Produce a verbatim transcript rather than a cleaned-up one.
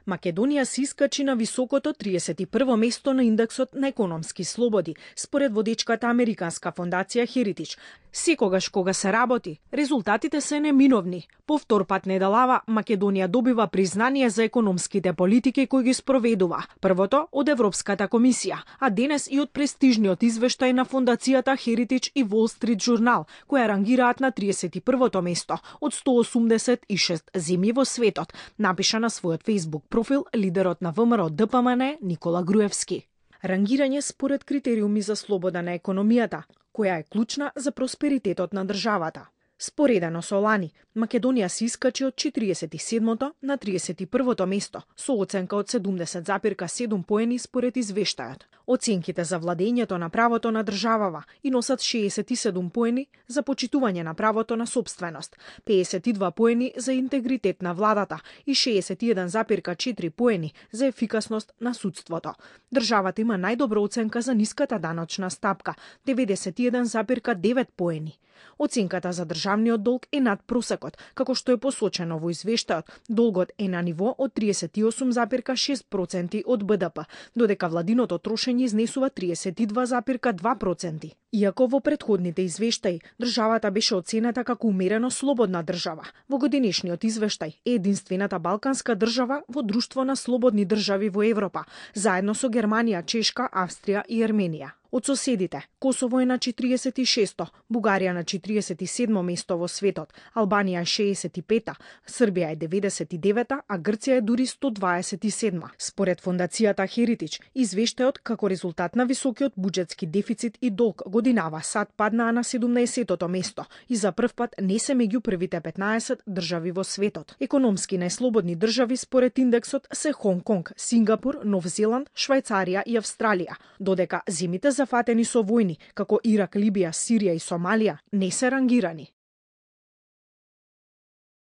Македонија се искачи на високото триесет и прво место на индексот на економски слободи, според водечката американска фондација Heritage. Секогаш кога се работи, резултатите се неминовни. По втор пат недалава, Македонија добива признание за економските политики кои ги спроведува. Првото од Европската комисија, а денес и од престижниот извештај на фондацијата Heritage и Wall Street Journal, која рангираат на триесет и првото место од сто осумдесет и шест земји во светот, напиша на својот Facebook профил лидерот на ВМРО Д П М Н Никола Груевски. Рангирање според критериуми за слобода на економијата, која е клучна за просперитетот на државата. Споредено со лани, Македонија се искачи од четириесет и седмото на триесет и првото место, со оценка од седумдесет запирка седум поени според извештајот. Оценките за владењето на правото на државава и носат шеесет и седум поени за почитување на правото на собственост, пеесет и два поени за интегритет на владата и шеесет и еден запирка четири поени за ефикасност на судството. Државата има најдобра оценка за ниската даночна стапка, деветдесет и еден запирка девет поени. Оценката за државниот долг е над просекот, како што е посочено во извештајот. Долгот е на ниво од триесет и осум запирка шест проценти од Б Д П, додека владиното трошење изнесува триесет и два запирка два проценти. Иако во претходните извештаи државата беше оценета како умерено слободна држава, во годинешниот извештај е единствената балканска држава во друштво на слободни држави во Европа, заедно со Германија, Чешка, Австрија и Ерменија. Од соседите, Косово е на четириесет и шесто, Бугарија на четириесет и седмо место во светот, Албанија е шеесет и пета, Србија е деветдесет и девета, а Грција е дури сто дваесет и седма. Според фондацијата Heritage, извештајот како резултат на високиот буџетски дефицит и долг годинава САД паднаа на седумнаесеттото место и за прв пат не се меѓу првите петнаесет држави во светот. Економски најслободни држави според индексот се Хонг Конг, Сингапур, Нов Зеланд, Швајцарија и Австралија, додека земите зафатени со војни, како Ирак, Либија, Сирија и Сомалија, не се рангирани.